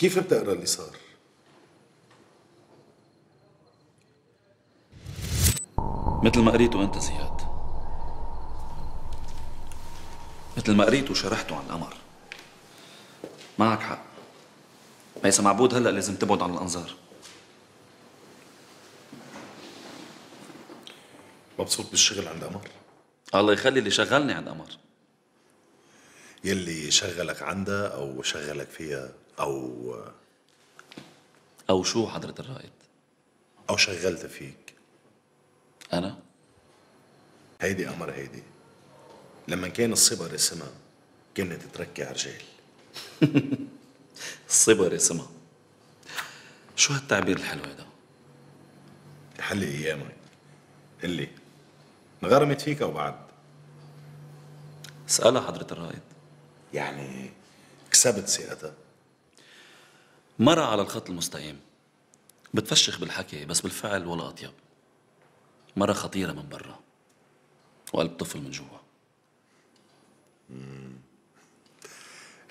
كيف بتقرا اللي صار؟ مثل ما قريته انت زياد، مثل ما قريته وشرحته عن القمر. معك حق، ميسا معبود هلأ لازم تبعد عن الأنظار. مبسوط بالشغل عند قمر؟ الله يخلي اللي شغلني عند قمر. يلي شغلك عندها أو شغلك فيها أو شو حضرة الرائد؟ أو شغلت فيك؟ أنا؟ هيدي قمر هيدي، لما كان الصبر اسمها كانت تركي على رجال. الصبر اسمها، شو هالتعبير الحلو هيدا؟ يحلي أيامك. قلي انغرمت فيك أو بعد؟ اسألها حضرة الرائد. يعني كسبت ثقتها؟ مرة على الخط المستقيم، بتفشخ بالحكي بس بالفعل ولا أطيب. مرة خطيرة من برا وقلب طفل من جوا.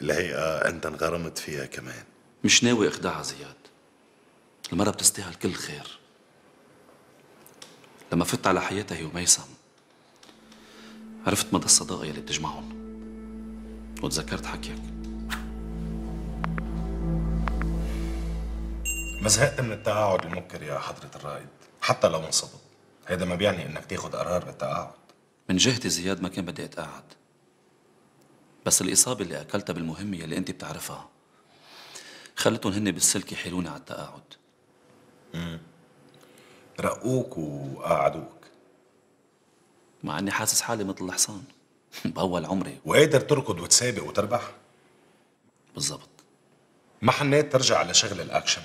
الهيئة أنت انغرمت فيها كمان؟ مش ناوي اخدعها زياد، المرة بتستاهل كل خير. لما فت على حياتها هي وميسم عرفت مدى الصداقة يلي بتجمعهم وتذكرت حكيك. ما زهقت من التقاعد المبكر يا حضرة الرائد؟ حتى لو انصبت هيدا ما بيعني انك تاخد قرار بالتقاعد. من جهتي زياد ما كان بدي اتقاعد، بس الإصابة اللي أكلتها بالمهمة اللي أنت بتعرفها خلتهم هن بالسلك يحيلوني على التقاعد. رقوك وقعدوك مع أني حاسس حالي مثل الحصان بأول عمري. وقادر تركض وتسابق وتربح؟ بالضبط. ما حنيت ترجع على شغل الأكشن؟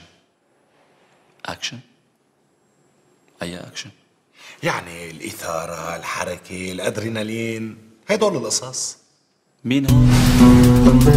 أكشن؟ أي أكشن؟ يعني الإثارة، الحركة، الأدرينالين، هدول القصص. مين هون؟